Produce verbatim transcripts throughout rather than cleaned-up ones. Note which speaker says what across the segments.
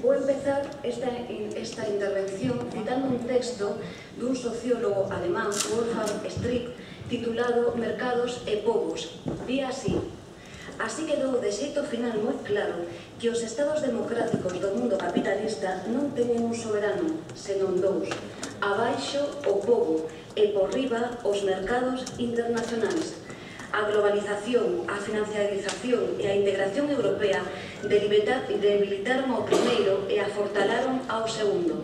Speaker 1: Vou empezar esta, esta intervención citando un texto dun sociólogo alemán, Wolfgang Strick, titulado Mercados e Pobos. Di así: así quedou de xeito final moi claro que os estados democráticos do mundo capitalista non teñen un soberano, senón dous: abaixo o pobo e por riba os mercados internacionais. A globalización, a financiarización e a integración europea debilitaron ao primeiro e afortalaron ao segundo.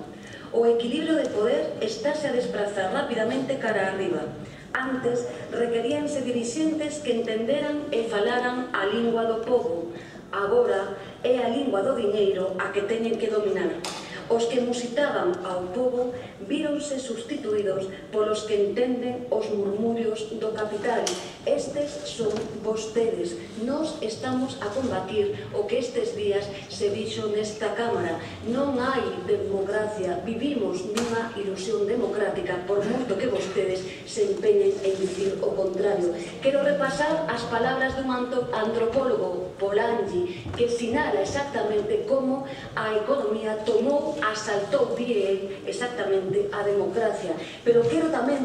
Speaker 1: O equilibrio de poder estáse a desprazar rapidamente cara arriba. Antes, requeríanse dirixentes que entenderan e falaran a lingua do pobo. Agora, é a lingua do diñeiro a que teñen que dominar. Os que musitaban ao pobo víronse sustituídos polos que entenden os murmurios do capital. Estes son vostedes. Nós estamos a combatir o que estes días se dixo nesta Cámara. Non hai democracia. Vivimos nunha ilusión democrática, por moito que vostedes se empeñen en dicir o contrario. Quero repasar as palabras dun antropólogo, Polanyi, que sinala exactamente como a economía tomou, asaltou, die exactamente a democracia. Pero quero tamén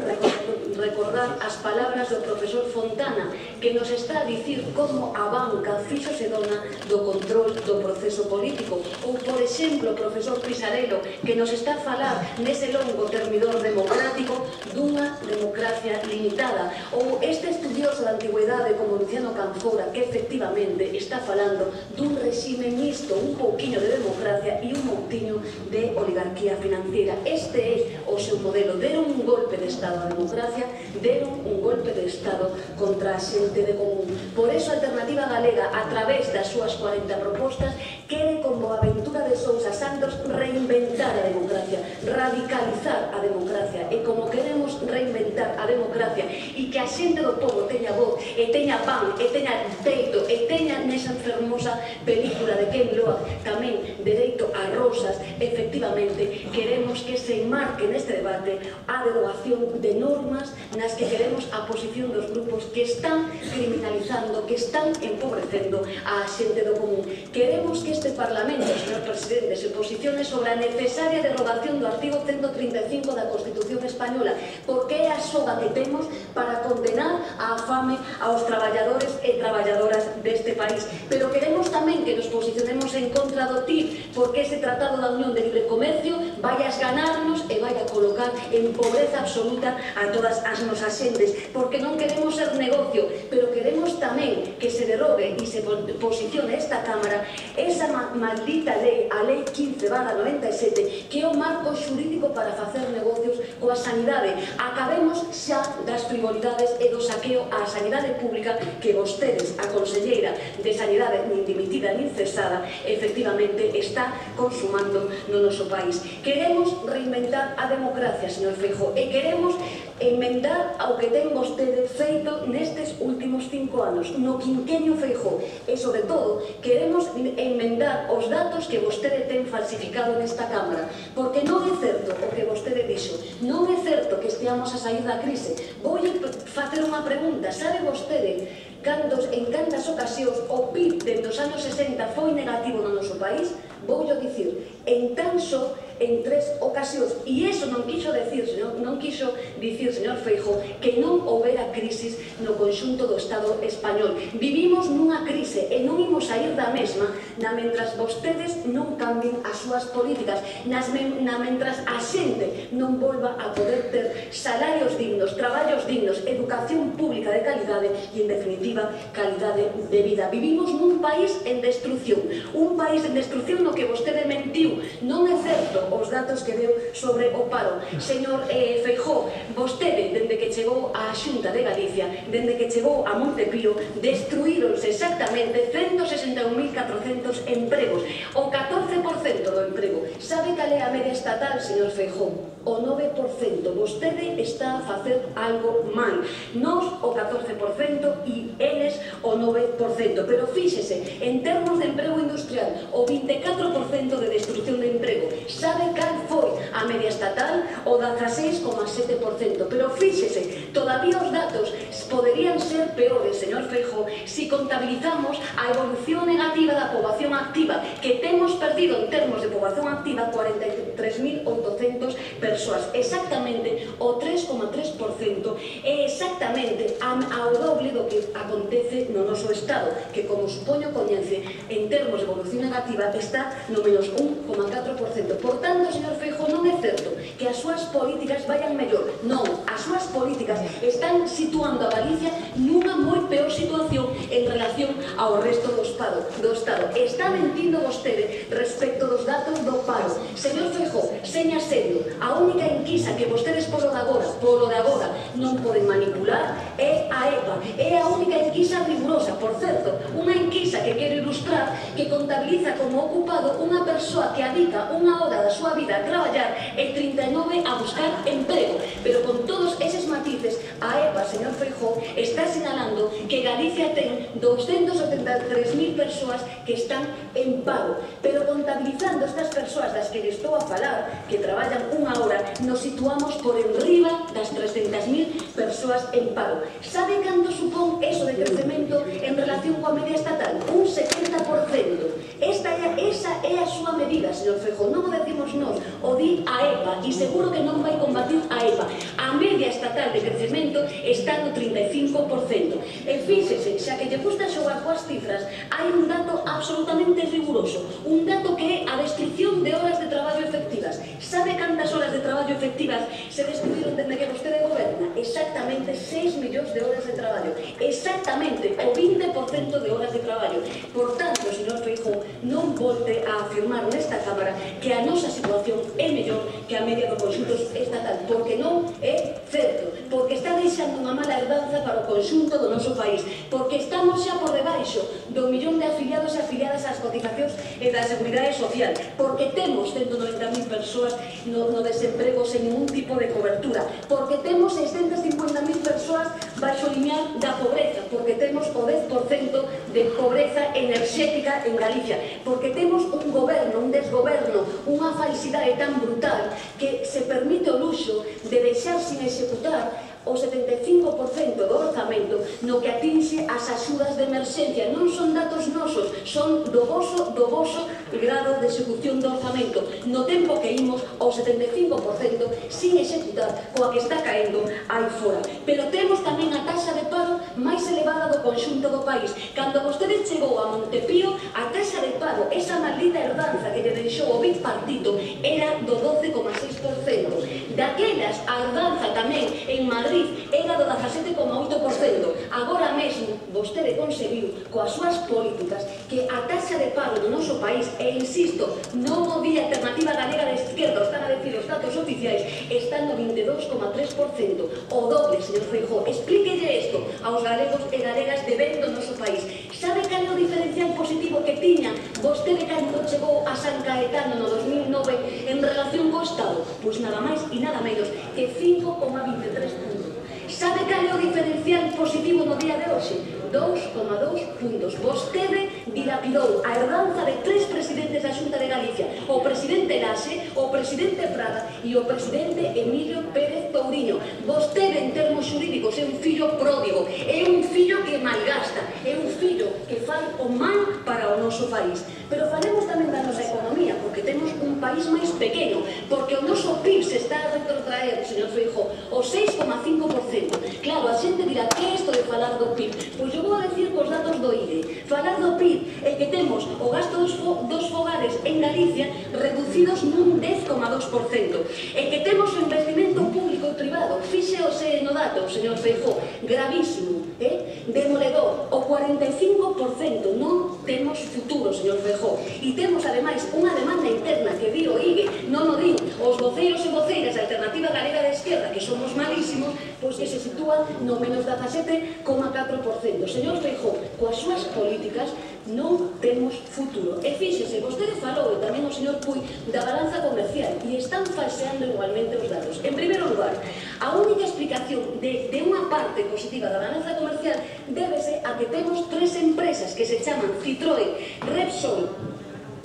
Speaker 1: recordar as palabras do profesor Fontana, que nos está a dicir como a banca fíxose dona do control do proceso político. Ou, por exemplo, o profesor Pisarello, que nos está a falar nese longo termidor democrático dunha democracia limitada. Ou este estudioso da antigüedade como Luciano Canfora, que efectivamente está falando dun regime mixto, un pouquiño de democracia e un pouquiño de oligarquía financiera. Este é o seu modelo. Deron un golpe de Estado á democracia, deron un golpe de Estado contra a xente de común. Por eso a Alternativa Galega, a través das súas cuarenta propostas, quere con Boaventura de Sousa Santos reinventar a democracia, radicalizar a democracia. E como queremos reinventar a democracia e que a xente do povo teña voz, e teña pan, e teña teito, e teña nesa fermosa película de Ken Loach tamén dereito a rosas, efectivamente queremos que se enmarque neste debate a derogación de normas nas que queremos a posición dos grupos que están criminalizando, que están empobrecendo a xente do común. Queremos que este Parlamento, señor Presidente, se posicione sobre a necesaria derogación do artigo ciento trinta e cinco da Constitución Española, porque é a soga que temos para condenar a fame aos traballadores e traballadoras deste país. Pero queremos tamén que nos posicionemos en contra do T I P, porque ese Tratado da Unión de Libre Comercio vai a esganarnos e vai a colocar en pobreza absoluta a todas as nosas xentes, porque non queremos ser negocio, pero queremos tamén que se derogue e se posicione esta Cámara esa maldita lei, a lei quince barra noventa e sete, que é o marco xurídico para facer negocios coa sanidade. Acabemos xa das frivolidades e do saqueo á sanidade pública que vostedes, a conselleira de Sanidade, nin dimitida nin cesada, efectivamente está consumando no noso país. Queremos reinventar a democracia, señor Feijóo, e queremos enmendar ao que ten vostede feito nestes últimos cinco anos, no quinquenio Feijóo, e, sobre todo, queremos enmendar os datos que vostede ten falsificado nesta Cámara, porque non é certo o que vostede dixo, non é certo que esteamos a sair da crise. Vou facer unha pregunta: sabe vostede cantos, en cantas ocasións o P I B dentro dos anos sesenta foi negativo no noso país? Voullo dicir, en tan só en tres ocasións. E iso non quixo dicir, non quixo dicir, señor Feijóo, que non houbera crisis no conxunto do Estado español. Vivimos nunha crise e non imos sair da mesma na mentras vostedes non cambien as súas políticas, nas na mentras a xente non volva a poder ter salarios dignos, traballos dignos, educación pública de calidade e, en definitiva, calidade de vida. Vivimos nun país en destrucción, un país en destrucción no que vostede mentiu. Non é certo os datos que deu sobre o paro. Señor eh, Feijóo, vostede, dende que chegou á Xunta de Galicia, dende que chegou a Montepío, destruíronse exactamente ciento sesenta e un mil catrocentos empregos, o catorce por cento do emprego. Sabe cal é a media estatal, señor Feijóo? o nove por cento. Vostede está a facer algo mal. Nós o catorce por cento e eles o nove por cento. Pero fíxese, en termos de emprego industrial, o vinte e catro por cento de destrucción de emprego. Sabe cal foi a media estatal? O dezaseis coma sete por cento. Pero fíxese, todavía os datos poderían ser peores, señor Feijóo, si contabilizamos a evolución negativa da poboación activa, que temos perdido en termos de poboación activa cuarenta e tres mil oitocentas persoas, exactamente o tres coma tres por cento, é exactamente ao doble do que acontece no noso Estado, que, como supoño coñece, en termos de evolución negativa está no menos un coma catro por cento. Por tanto, señor Feijóo, non é certo que as súas políticas vayan mellor. Non, as súas políticas están situando a Galicia nunha moi peor situación en relación ao resto do Estado. Do Estado. Está mentindo vostede respecto dos datos do paro. Señor Feijóo, seña serio, a única enquisa que vostedes polo de agora, polo de agora, non poden manipular é a E P A. É a única enquisa rigurosa, por certo, unha enquisa que quero ilustrar, que contabiliza como ocupado unha persoa que adica unha hora da súa vida a traballar e trinta e nove a buscar emprego. Pero con todos eses matices, a E P A, señor Feijóo, está sinalando que Galicia ten doscientas setenta e tres mil persoas que están en paro. Pero contabilizando estas persoas das que les estou a falar, que traballan unha hora, nos situamos por enriba das trescentas mil persoas en paro. Sabe canto supón eso de crecemento en relación coa media estatal? Un setenta por cento. Esta é, esa é a súa medida, señor Feijóo. Non o decimos nós, o di a E P A, e seguro que non vai combatir a E P A. A media estatal de crecemento está no trinta e cinco por cento. E fíxese, xa que lle gusta xogar coas cifras, hai un dato absolutamente riguroso, un dato que é a descripción de horas de traballo efectivas. Sabe cantas horas de traballo efectivas se destruíron dende que vostede goberna? Exactamente seis millóns de horas de traballo. Exactamente o vinte por cento de horas de traballo. Por tanto, señor Feijóo, non volte a afirmar nesta Cámara que a nosa situación é mellor que a media do conxunto estatal, porque non é certo, porque está deixando unha mala herdanza para o conxunto do noso país, porque estamos xa por debaixo do millón de afiliados e afiliadas ás cotizacións e da Seguridade Social, porque temos ciento noventa mil persoas no, no desemprego sen ningún tipo de cobertura, porque temos seiscentas cincuenta mil persoas baixo o lineal da pobreza, porque temos o dez por cento de pobreza enerxética en Galicia, porque temos un goberno, un desgoberno, unha falsidade tan brutal que se permite o luxo de deixar sin executar o setenta e cinco por cento do orzamento no que atinxe as axudas de emerxencia. Non son datos nosos, son do voso, do voso grado de execución do orzamento. No tempo que imos ao setenta e cinco por cento sin executar coa que está caendo aí fora. Pero temos tamén a taxa de paro máis elevada do conxunto do país. Cando vostede chegou a Montepío, a taxa de paro, esa maldita herdanza que lle deixou o bipartito, era do doce coma seis por cento. Daquelas, a herdanza tamén en Madrid era do dezasete coma oito por cento. Agora mesmo, vostede conseguiu, coas súas políticas, que a taxa de paro do noso país, e insisto, non o di Alternativa Galega de Esquerda, están a decir os datos oficiais, está no vinte e dous coma tres por cento. O doble, señor Feijóo. Explíquelle isto aos galegos e galegas de ben do noso país. Sabe cal é o diferencial positivo que tiña vostede cando chegou a San Caetano no dos mil nove en relación co Estado? Pois nada máis e nada menos que cinco coma vinte e tres puntos. Sabe cal é o diferencial positivo no día de hoxe? dous coma dous puntos. Vostede dilapidou a herdanza de tres presidentes da Xunta de Galicia, o presidente Laxe, o presidente Prada e o presidente Emilio Pérez Touriño. Vostede, en termos xurídicos, é un fillo pródigo, é un fillo que malgasta, é un fillo que fai o mal para o noso país. Pero falemos tamén da nosa economía, porque temos un país máis pequeno, porque o noso P I B se está a retrotraer, señor Feijóo, o seis coma cinco por cento. Claro, a xente dirá, que é isto de falar do P I B? Pois eu vou a decir cos datos do I D E. Falar do P I B é que temos o gasto dos, fo dos fogares en Galicia reducidos nun dez coma dos por cento. E que temos o investimento público e privado, fíxeose no dato, señor Feijóo, gravísimo, eh? Demoledor, o cuarenta e cinco por cento. Non temos futuro, señor Feijóo. E temos, ademais, unha demanda interna que di o I D E, non o din os voceiros e voceiras da Alternativa Galega de Esquerda, que somos malísimos, pois que se sitúa no menos dezasete coma catro por cento. Señor Feijóo, coas súas políticas non temos futuro. E fíxese, vostede falou, e tamén o señor Puy da balanza comercial e están falseando igualmente os datos. En primeiro lugar, a única explicación de, de unha parte positiva da balanza comercial débese a que temos tres empresas que se chaman Citroën, Repsol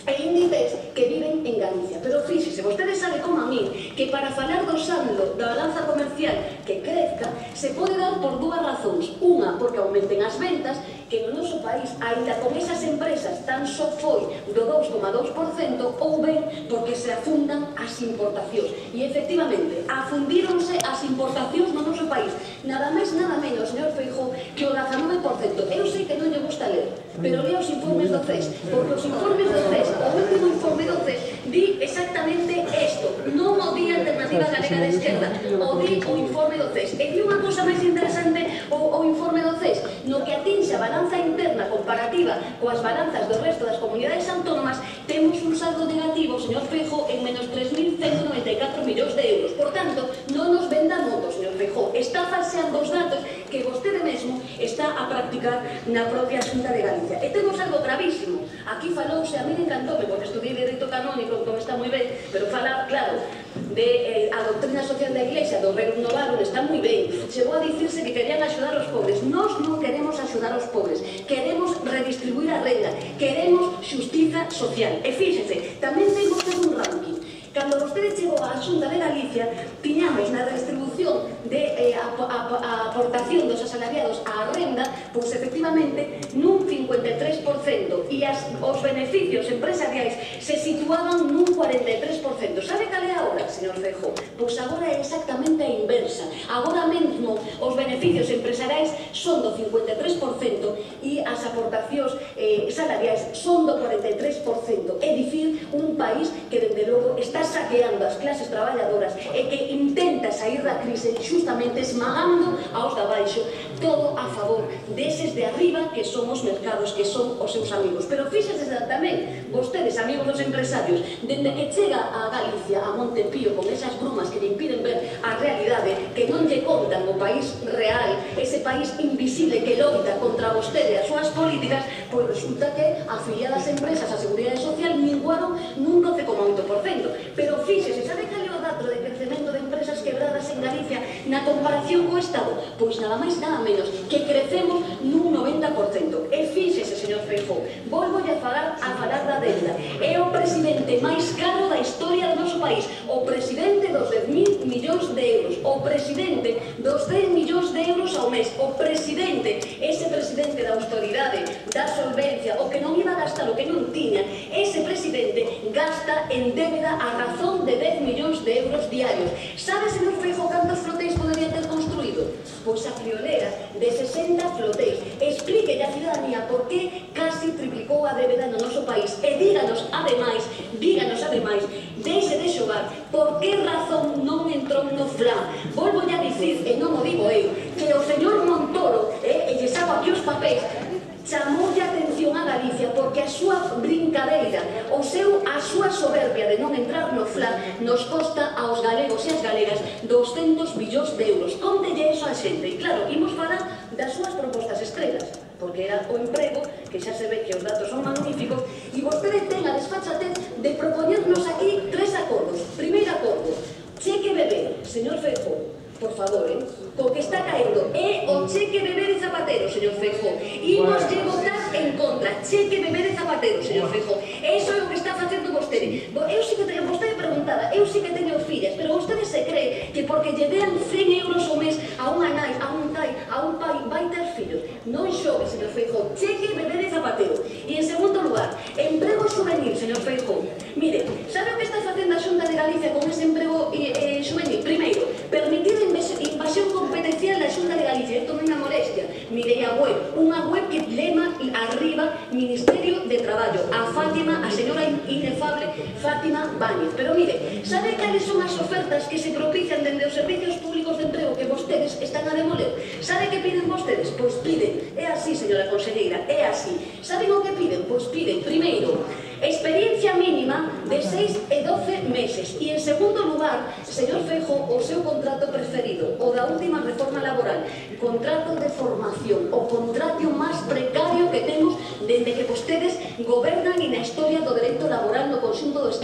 Speaker 1: e Inditex que viven en Galicia. Pero fíxese, vostede sabe como a mí que para falar do saldo da balanza comercial que crezca se pode dar por dúas razóns. Unha, porque aumenten as ventas, que no noso país, aínda con esas empresas, tan só foi do dous coma dous por cento, ou ben porque se afundan as importacións. E efectivamente, afundíronse as importacións no noso país. Nada máis, nada menos, señor Feijóo, que o dezanove por cento. Eu sei que non lle gusta ler, pero lea os informes do C E S, porque os informes do C E S, o último informe do C E S, di exactamente isto. Non o di Alternativa Galega de Esquerda, o di o informe do C E S. E di unha cousa máis interesante o, o informe do C E S, no que atinxe a balanza interna comparativa coas balanzas do resto das comunidades autónomas, temos un saldo negativo, señor Feijóo, en menos tres mil ciento noventa e catro millóns de euros. Por tanto, non nos venda moto, señor Feijóo. Está falseando os datos que vostede mesmo está a practicar na propia Xunta de Galicia. E temos algo gravísimo. Aquí falouse, a mí me encantoume, porque estudiei Dereito Canónico, como está moi ben, pero falar, claro, de eh, a doctrina social da Iglesia, do Rerum Novarum, está moi ben. Chegou a dicirse que querían axudar os pobres. Nós non queremos axudar os pobres, queremos redistribuir a renda, queremos xustiza social. E fíxense, tamén ten vostede un ranking. Cando vostede chegou á Xunta de Galicia, tiñamos na redistribución de eh, a, a, a aportación dos asalariados á renda, pois efectivamente nun cincuenta e tres por cento, e as, os beneficios empresariais se situaban nun cuarenta e tres por cento. Sabe cal é agora, señor Feijóo? Pois agora é exactamente a inversa. Agora mesmo os beneficios empresariais son do cincuenta e tres por cento e as aportacións eh, salariais son do cuarenta e tres por cento. É dicir, un país que, dende logo, está saqueando as clases traballadoras e que intenta sair da crise justamente esmagando aos de abaixo, todo a favor deses de arriba que son os mercados, que son os seus amigos. Pero fíxense tamén, vostedes, amigos dos empresarios, dende que chega a Galicia, a Montepío, con esas brumas que lle impiden ver a realidade, que non lle contan o país real, ese país invisible que loita contra vostede e as súas políticas, pois resulta que afiliadas empresas á Seguridade Social minguaron nun doce coma oito por cento. Pero fíxese, sabe cal é o dato de crecemento de empresas quebradas en Galicia na comparación co Estado? Pois nada máis, nada menos, que crecemos nun noventa por cento. E fíxese, señor Feijóo, volvo a falar, a falar da deuda. É o presidente máis caro da historia do noso país, o presidente dos dez mil millóns de euros, o presidente dos dez millóns de euros ao mes, o presidente, ese presidente da autoridade, da solvencia, o que non iba a gastar, o que non tiña, ese presidente gasta en débeda a razón de dez millóns de euros diarios. Sabe, señor Feijóo, cantos flotéis podería ter construído? Pois a friolera de sesenta flotéis. Explíquelle a ciudadanía por que casi triplicou a débeda no noso país. E díganos, ademais, díganos, ademais, deixe de xogar, por que razón non entrou no FLA? Volvo a dicir, e non o digo eu, que o señor Montoro, eh, e lle saco aquí os papéis, chamoulle a atención a Galicia porque a súa brincadeira, o seu, a súa soberbia de non entrar no FLA nos costa aos galegos e as galegas doscentos millóns de euros. Contelle eso a xente. E claro, imos falar das súas propostas estrelas, porque era o emprego, que xa se ve que os datos son magníficos, e vostede ten a desfachatez de propoñernos aquí tres acordos. Primeiro acordo, cheque bebé, señor Feijóo, por favor, eh? Co que está caendo é o cheque bebé de Zapatero, señor Feijóo. Imos lle votar en contra. Cheque bebé de Zapatero, señor Feijóo. Eso é o que está facendo vostede. Eu sí que teño, vostede preguntaba, eu sí que teño fillas, pero vostede se cree que porque lle dean cen euros ao mes a unha nai, a un tai, a un pai, vai ter fillos. Non xogue, señor Feijóo. Cheque bebé de Zapatero. E en segundo lugar, emprego juvenil, señor Feijóo. Mire, sabe o que está facendo a Xunta de Galicia con ese emprego eh, eh, juvenil? Primeiro, permitir invasión competencial da Xunta de Galicia. Isto non é unha molestia. Mirei a web, unha web que lema arriba Ministerio de Traballo, a Fátima, a señora inefable Fátima Báñez. Pero mire, sabe cales son as ofertas que se propician dende os servicios públicos de emprego que vostedes están a demoler? Sabe que piden vostedes? Pois piden, é así, señora conselleira, é así. Saben o que piden? Pois piden, primeiro, experiencia mínima de seis e doce meses. E en segundo lugar, señor Feijóo, o seu contrato preferido, o da última reforma laboral, contrato de formación, o contrato máis precario que temos dende que vostedes gobernan e na historia do dereito laboral no conxunto do Estado.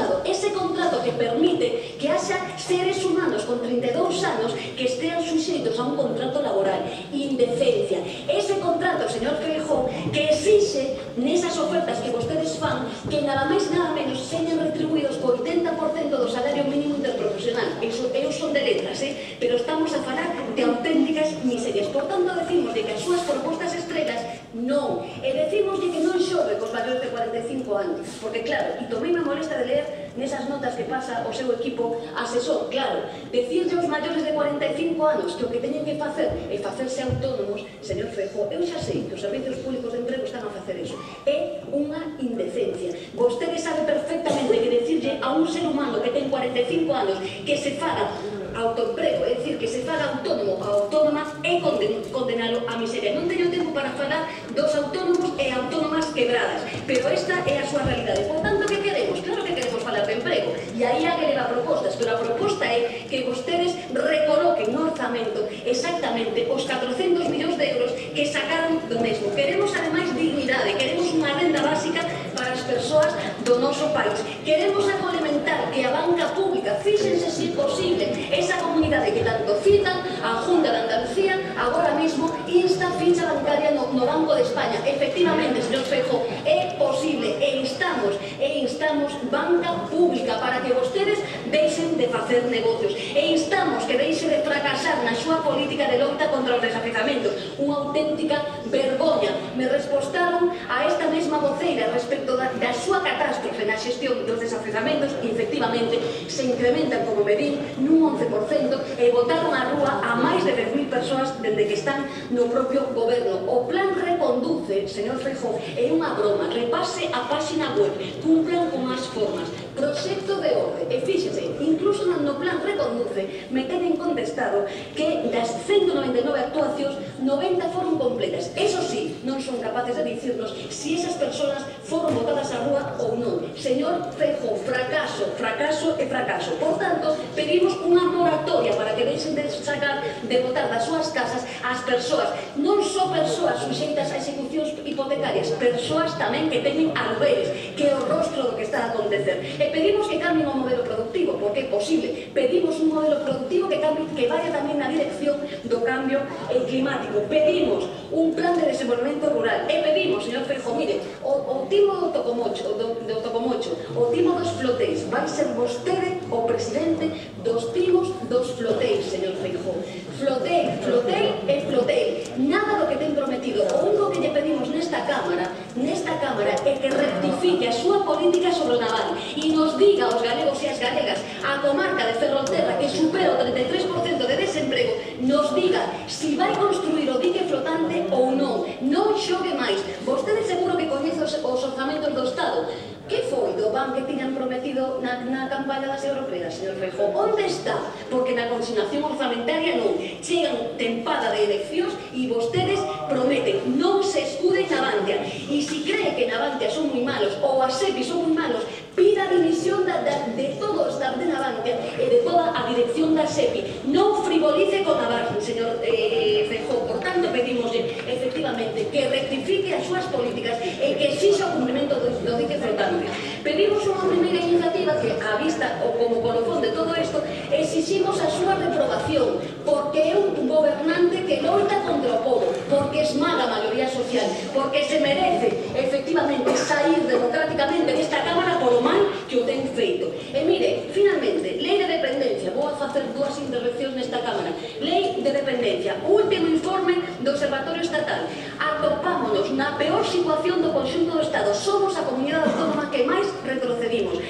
Speaker 1: permite que haxa seres humanos con trinta e dous anos que estean suxeitos a un contrato laboral. Indecencia. Ese contrato, señor Feijóo, que exixe nesas ofertas que vostedes fan que nada máis nada menos señan retribuídos co oitenta por cento do salario mínimo interprofesional. Eso, eu son de letras, eh? Pero estamos a falar de auténticas miserias. Por tanto, decimos de que as súas propostas estrelas non. E decimos de que non xove cos maiores de cuarenta e cinco anos. Porque, claro, e tomei a molesta de ler nesas notas que pasa o seu equipo asesor, claro, decirle aos maiores de cuarenta e cinco anos que o que teñen que facer é facerse autónomos, señor Feijóo, eu xa sei que os servicios públicos de emprego están a facer eso. É unha indecencia. Vostede sabe perfectamente que decirle a un ser humano que ten cuarenta e cinco anos que se faga autoemprego, é dicir, que se faga autónomo ou autónoma, é condenalo a miseria. Non teño tempo para falar dos autónomos e autónomas quebradas, pero esta é a súa realidade. Por tanto, que queremos? Claro que queremos falar de emprego, e aí a que leva propostas, pero a proposta é que vostedes recoloquen no orzamento exactamente os catrocentos millóns de euros que sacaron do mesmo. Queremos, ademais, dignidade, queremos unha renda básica para as persoas do noso país. Queremos complementar que a banca pública, fíxense se posible, esa comunidade que tanto citan, a Junta de Andalucía, agora mesmo insta ficha bancaria no, no Banco de España. Efectivamente, señor Feijóo, é posible, e instamos, e instamos banca pública para que vostedes deixen de facer negocios, e instamos que deixe de fracasar na súa política de loita contra os desafiuzamentos. Unha auténtica vergoña. Me respostaron a esta mesma voceira respecto da, da súa catástrofe na xestión dos desafiuzamentos e, efectivamente, se incrementan, como me din, nun once por cento e botaron á rúa a máis de dez mil persoas dende que están no propio goberno. O plan Reconduce, señor Feijóo, é unha broma. Repase a páxina web, cumplan con as formas. Proxecto de orde. E fíxese, incluso no plan Reconduce me teñen contestado que das ciento noventa e nove actuacións, noventa foron completas. Eso sí, non son capaces de dicirnos si esas persoas foron botadas á rúa ou non. Señor Feijóo, fracaso, fracaso e fracaso. Por tanto, pedimos unha moratoria para que deixen de sacar, de botar das súas casas as persoas, non só persoas suxeitas a execucións hipotecarias, persoas tamén que teñen alberes, que é o rostro do que está a acontecer. E pedimos que cambien o modelo productivo, porque é posible. Pedimos un modelo productivo que, cambie, que vaya tamén na dirección do cambio climático. Pedimos un plan de desenvolvemento rural. E pedimos, señor Feijóo, mire, o, o timo do Tocomocho, do, do Tocomocho, o timo dos flotéis, vai ser vostede o presidente dos timos dos flotéis, señor Feijóo. Flotei, flotei e flotei. Nada do que ten prometido. O único que lle pedimos nesta Cámara, nesta Cámara, é que rectifique a súa política sobre o naval e nos diga aos galegos e as galegas, a comarca de Ferrolterra, que supera o trinta e tres por cento de desemprego, nos diga si vai construir o dique flotante ou non. Non xogue máis. Vostede seguro que coñece os, os orzamentos do Estado. Que foi do ban que tiñan prometido na, na campaña das europeas, señor Feijóo? Onde está? Porque na consignación orzamentaria non. Chegan tempada de eleccións e vostedes prometen. Non se escuden na Navantia. E se cree que Navantia son moi malos ou a SEPI son moi malos, pida a dimisión da, da, de todo o staff de Navantia e de toda a dirección da SEPI. Non frivolice con Navarra, señor eh, Feijóo. Por tanto, pedimoslle, efectivamente, que rectifique as súas políticas e que exixa o cumprimento do, do dique flotante. Pedimos unha primeira iniciativa que, a vista ou como colofón de todo isto, exiximos a súa reprobación, porque é un gobernante que loita contra o povo, porque esmaga a maioría social, porque se merece, efectivamente, sair democráticamente desta Cámara por o mal que o ten feito. E mire, finalmente, lei de dependencia, vou a facer dúas intervencións nesta Cámara. Lei de dependencia, último informe do Observatorio Estatal. Atopámonos na peor situación do conxunto do Estado. Somos a comunidade autónoma que máis retrocedimos,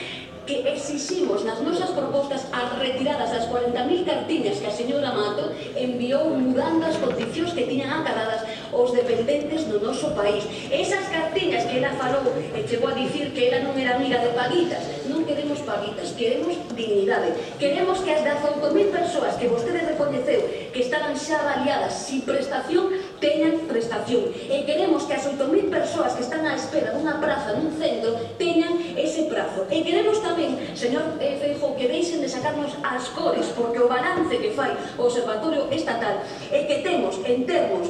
Speaker 1: que exiximos nas nosas propostas as retiradas das cuarenta mil cartiñas que a señora Mato enviou mudando as condicións que tiñan acadadas os dependentes no noso país. Esas cartiñas que ela falou e chegou a dicir que ela non era amiga de paguitas. Non queremos paguitas, queremos dignidade. Queremos que as dezaoito mil persoas que vostede recoñeceu que estaban xa avaliadas sin prestación teñan prestación. E queremos que as oito mil persoas que están á espera dunha praza nun centro teñan ese prazo. E queremos tamén, señor Feijóo, que deixen de sacarnos as cores, porque o balance que fai o Observatorio Estatal é que temos, en termos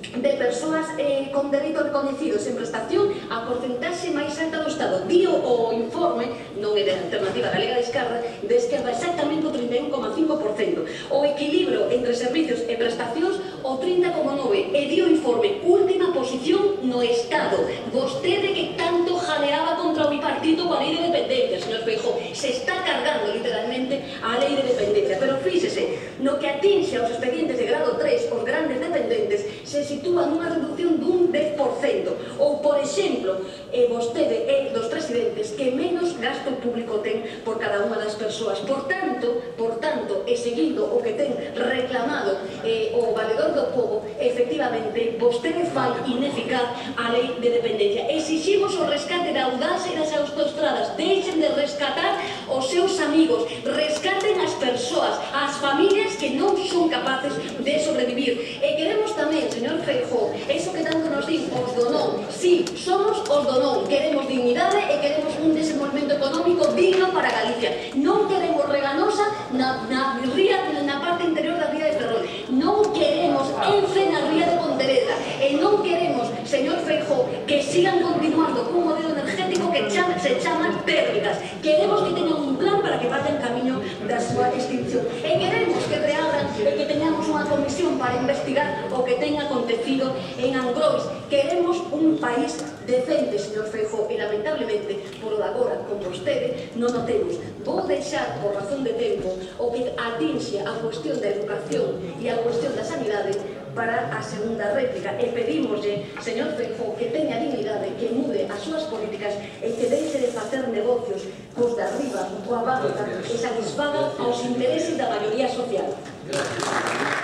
Speaker 1: de persoas eh, con dereito recoñecidos en prestación, a porcentaxe máis alta do Estado. Dio o informe, non é de Alternativa Galega de Esquerda,
Speaker 2: de esquerda exactamente o trinta e un coma cinco por cento. O equilibrio entre servicios e prestacións o trinta coma nove por cento. E di o informe, última posición no Estado. Vostede que tanto jaleaba contra o bipartito coa lei de dependencia, señor Feijóo, se está cargando literalmente a lei de dependencia. Pero fíxese, no que atinxe aos expedientes de grado tres, os grandes dependentes, se sitúa nunha reducción dun dez por cento. Ou, por exemplo, eh, vostede é dos presidentes que menos gasto público ten por cada unha das persoas. Por tanto, por tanto, e seguindo o que ten reclamado eh, o valedor do povo, efectivamente, vostede fai ineficaz a lei de dependencia. Exiximos o rescate da audacia e das autoestradas. Deixen de rescatar os seus amigos, rescaten as persoas, as familias que non son capaces de sobrevivir. E queremos tamén, señor Feijóo, eso que tanto nos din os do non. Sí, somos os do non. Queremos dignidade e queremos un desenvolvemento económico digno para Galicia. Non queremos Reganosa na, na ría, na parte interior da ría de Ferrol. Non queremos Ence na ría de Pontevedra. E non queremos, señor Feijóo, que sigan continuando cun modelo energético que chama, se chama térmicas. Queremos que teñan un plan para que vayan camiño da súa extinción. E queremos que reabran e que teñamos unha comisión para investigar o que ten acontecido en Angrois. Queremos un país decente, señor Feijóo, e lamentablemente, por o de agora, con vostede, non o temos. Vou deixar, por razón de tempo, o que atinxe a cuestión da educación e a cuestión da sanidade para a segunda réplica. E pedimoslle, señor Feijóo, que teña dignidade, que mude as súas políticas e que deixe de facer negocios cos de arriba, coa banca, e satisfaga aos intereses da maioría social.
Speaker 3: Gracias.